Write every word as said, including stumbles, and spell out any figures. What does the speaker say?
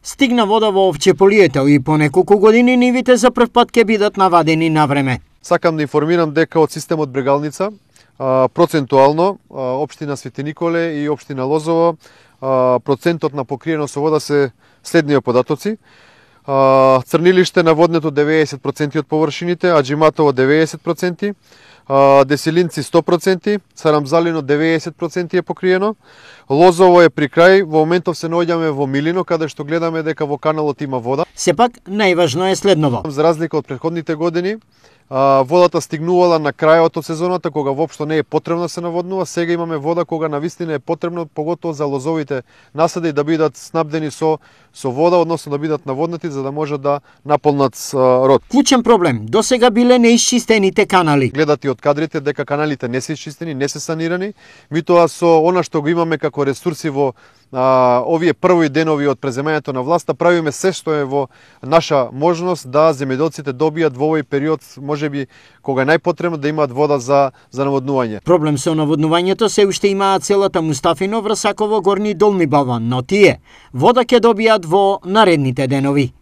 Стигна вода во овчеполието и по неколку години нивите за прв пат ќе бидат навадени на време. Сакам да информирам дека од системот Брегалница процентуално општина Свети Николе и општина Лозово процентот на покриеност со вода се следнија податоци. Црнилиште наводнето деветдесет проценти од површините, Аџиматово деветдесет проценти, Деселинци сто проценти, Сарамзалино деветдесет проценти е покриено. Лозово е при крај, во моментов се наоѓаме во Милино, каде што гледаме дека во каналот има вода. Сепак, најважно е следново. За разлика од претходните години, водата стигнувала на крајот од сезоната, кога воопшто не е потребно да се наводнува. Сега имаме вода кога навистина е потребно, поготово за лозовите насади, да бидат снабдени со со вода, односно да бидат наводнати, за да може да наполнат род. Клучен проблем, досега биле неисчистените канали. Гледат и од кадрите дека каналите не се исчистени, не се санирани, митоа со она што го имаме како ресурси во а, овие први денови од преземањето на власта, правиме се што е во наша можност да земјоделците добијат во овој период, можеби кога е најпотребно, да имаат вода за за наводнување. Проблем со наводнувањето се уште имаат селата Мустафино, Врсаково, Горни и Долни Балван, но тие вода ќе добијат во наредните денови.